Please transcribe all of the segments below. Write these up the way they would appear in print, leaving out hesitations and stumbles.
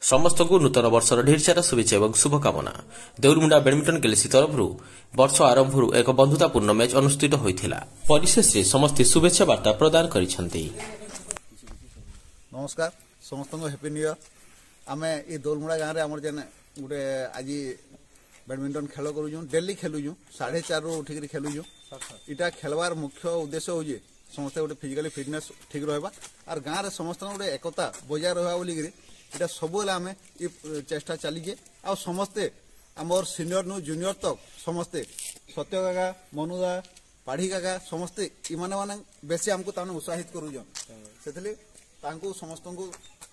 ସମସ୍ତଙ୍କୁ ନୂତନ ବର୍ଷର ଢେର ସାରା ଶୁଭେଚ୍ଛା ଏବଂ ଶୁଭକାମନା। ଦେଉଲମୁଣ୍ଡା ବ୍ୟାଡମିଣ୍ଟନ ଗ୍ୟାଲେକ୍ସି ତରଫରୁ ବର୍ଷ ଆରମ୍ଭରୁ ଏକ ବନ୍ଧୁତାପୂର୍ଣ୍ଣ ମ୍ୟାଚ୍ ଅନୁଷ୍ଠିତ ହୋଇଥିଲା। ପରିଶେଷରେ ସମସ୍ତେ ଶୁଭେଚ୍ଛା ବାର୍ତ୍ତା ପ୍ରଦାନ କରିଛନ୍ତି। ନମସ୍କାର ସମସ୍ତଙ୍କୁ, ହ୍ୟାପି ନ୍ୟୁ ଇୟର। ଆମେ ଏ ଦୋଲମୁଡ଼ା ଗାଁରେ ଆମର ଯେନ୍ ଗୋଟେ ଆଜି ବ୍ୟାଡମିଣ୍ଟନ ଖେଳ କରୁଛୁଁ, ଡେଲି ଖେଲୁଛୁଁ, 4:30ରୁ ଉଠିକିରି ଖେଲୁଛୁଁ। ଇଟା ଖେଲବାର ମୁଖ୍ୟ ଉଦ୍ଦେଶ୍ୟ ହଉଛେ ସମସ୍ତେ ଗୋଟେ ଫିଜିକାଲି ଫିଟନେସ୍ ଠିକ୍ ରହିବା ଆର୍ ଗାଁରେ ସମସ୍ତଙ୍କ ଗୋଟେ ଏକତା ବଜାୟ ରହିବା ବୋଲିକିରି ଏଇଟା ସବୁବେଳେ ଆମେ ଇ ଚେଷ୍ଟା ଚାଲିଛେ। ଆଉ ସମସ୍ତେ ଆମର ସିନିୟର ନୁ ଜୁନିୟର ତକ୍ ସମସ୍ତେ, ସତ୍ୟ କାକା, ମନୁଦା, ପାଢ଼ୀ କାକା, ସମସ୍ତେ ଇମାନେ ମାନେ ବେଶୀ ଆମକୁ ତାମାନେ ଉତ୍ସାହିତ କରୁଛନ୍। ସେଥିଲାଗି ତାଙ୍କୁ ସମସ୍ତଙ୍କୁ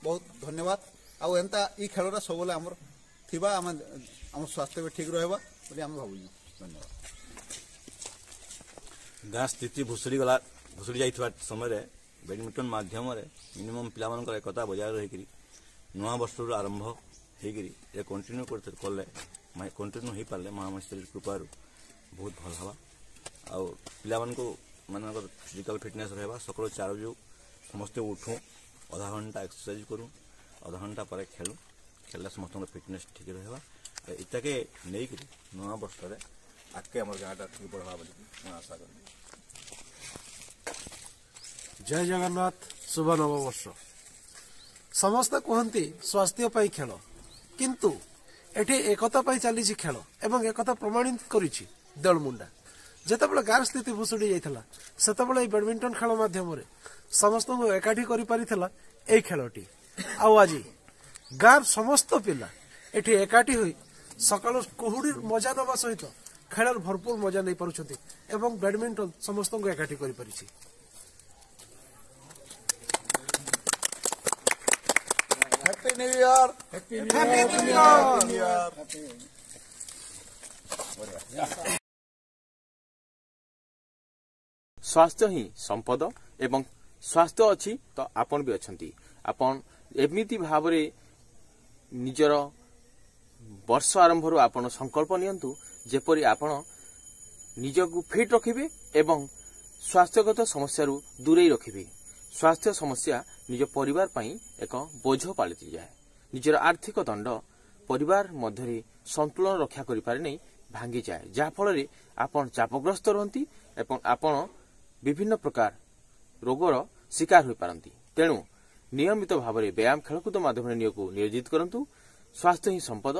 ବହୁତ ଧନ୍ୟବାଦ। ଆଉ ଏନ୍ତା ଇ ଖେଳଟା ସବୁବେଳେ ଆମର ଥିବା ଆମେ ଆମ ସ୍ୱାସ୍ଥ୍ୟ ବି ଠିକ୍ ରହିବା ବୋଲି ଆମେ ଭାବୁଛୁ। ଧନ୍ୟବାଦ। ଗାଁ ସ୍ଥିତି ଭୁଷୁଡ଼ି ଗଲା, ଭୁଷୁଡ଼ି ଯାଇଥିବା ସମୟରେ ବ୍ୟାଡମିଣ୍ଟନ ମାଧ୍ୟମରେ ମିନିମମ୍ ପିଲାମାନଙ୍କର ଏକତା ବଜାୟ ରହିକରି ନୂଆ ବର୍ଷରୁ ଆରମ୍ଭ ହେଇକରି ଏ କଣ୍ଟିନ୍ୟୁ କଲେ, କଣ୍ଟିନ୍ୟୁ ହେଇପାରିଲେ ମହାମହେଶ୍ୱରୀ କୃପାରୁ ବହୁତ ଭଲ ହେବା ଆଉ ପିଲାମାନଙ୍କୁ ମାନଙ୍କର ଫିଜିକାଲ ଫିଟନେସ୍ ରହିବା। ସକାଳୁ 4 ବଜୁ ସମସ୍ତେ ଉଠୁଁ, ଅଧା ଘଣ୍ଟା ଏକ୍ସରସାଇଜ କରୁ, ଅଧା ଘଣ୍ଟା ପରେ ଖେଳୁ। ଖେଳିଲେ ସମସ୍ତଙ୍କର ଫିଟନେସ୍ ଠିକ୍ ରହିବା। ଇଟାକେ ନେଇକରି ନୂଆ ବର୍ଷରେ ଆଗକେ ଆମର ଗାଁଟା ଠିକ୍ ବଢ଼ବା ବୋଲି ମୁଁ ଆଶା କରିବି। ଜୟ ଜଗନ୍ନାଥ, ଶୁଭ ନବବର୍ଷ। ସମସ୍ତେ କୁହନ୍ତି ସ୍ୱାସ୍ଥ୍ୟ ପାଇଁ ଖେଳ, କିନ୍ତୁ ଏଠି ଏକତା ପାଇଁ ଚାଲିଛି ଖେଳ ଏବଂ ଏକତା ପ୍ରମାଣିତ କରିଛି ଦେଉଳମୁଣ୍ଡା। ଯେତେବେଳେ ଗାଁର ସ୍ଥିତି ଭୁଷୁଡ଼ି ଯାଇଥିଲା, ସେତେବେଳେ ଏହି ବ୍ୟାଡମିଣ୍ଟନ ଖେଳ ମାଧ୍ୟମରେ ସମସ୍ତଙ୍କୁ ଏକାଠି କରିପାରିଥିଲା ଏଇ ଖେଳଟି। ଆଉ ଆଜି ଗାଁର ସମସ୍ତ ପିଲା ଏଠି ଏକାଠି ହୋଇ ସକାଳୁ କୁହୁଡ଼ି ମଜା ନେବା ସହିତ ଖେଳର ଭରପୁର ମଜା ନେଇପାରୁଛନ୍ତି ଏବଂ ବ୍ୟାଡମିଣ୍ଟନ ସମସ୍ତଙ୍କୁ ଏକାଠି କରିପାରିଛି। Happy new year, happy new year. ସ୍ୱାସ୍ଥ୍ୟ ହିଁ ସମ୍ପଦ ଏବଂ ସ୍ୱାସ୍ଥ୍ୟ ଅଛି ତ ଆପଣ ବି ଅଛନ୍ତି। ଆପଣ ଏମିତି ଭାବରେ ନିଜର ବର୍ଷ ଆରମ୍ଭରୁ ଆପଣ ସଂକଳ୍ପ ନିଅନ୍ତୁ, ଯେପରି ଆପଣ ନିଜକୁ ଫିଟ୍ ରଖିବେ ଏବଂ ସ୍ୱାସ୍ଥ୍ୟଗତ ସମସ୍ୟାରୁ ଦୂରେଇ ରଖିବେ। ସ୍ୱାସ୍ଥ୍ୟ ସମସ୍ୟା ନିଜ ପରିବାର ପାଇଁ ଏକ ବୋଝ ପାଲଟିଯାଏ। ନିଜର ଆର୍ଥିକ ଦଣ୍ଡ ପରିବାର ମଧ୍ୟରେ ସନ୍ତୁଳନ ରକ୍ଷା କରିପାରେ ନାହିଁ, ଭାଙ୍ଗିଯାଏ, ଯାହାଫଳରେ ଆପଣ ଚାପଗ୍ରସ୍ତ ରୁହନ୍ତି ଏବଂ ଆପଣ ବିଭିନ୍ନ ପ୍ରକାର ରୋଗର ଶିକାର ହୋଇପାରନ୍ତି। ତେଣୁ ନିୟମିତ ଭାବରେ ବ୍ୟାୟାମ, ଖେଳକୁଦ ମାଧ୍ୟମରେ ନିଜକୁ ନିୟୋଜିତ କରନ୍ତୁ। ସ୍ୱାସ୍ଥ୍ୟ ହିଁ ସମ୍ପଦ।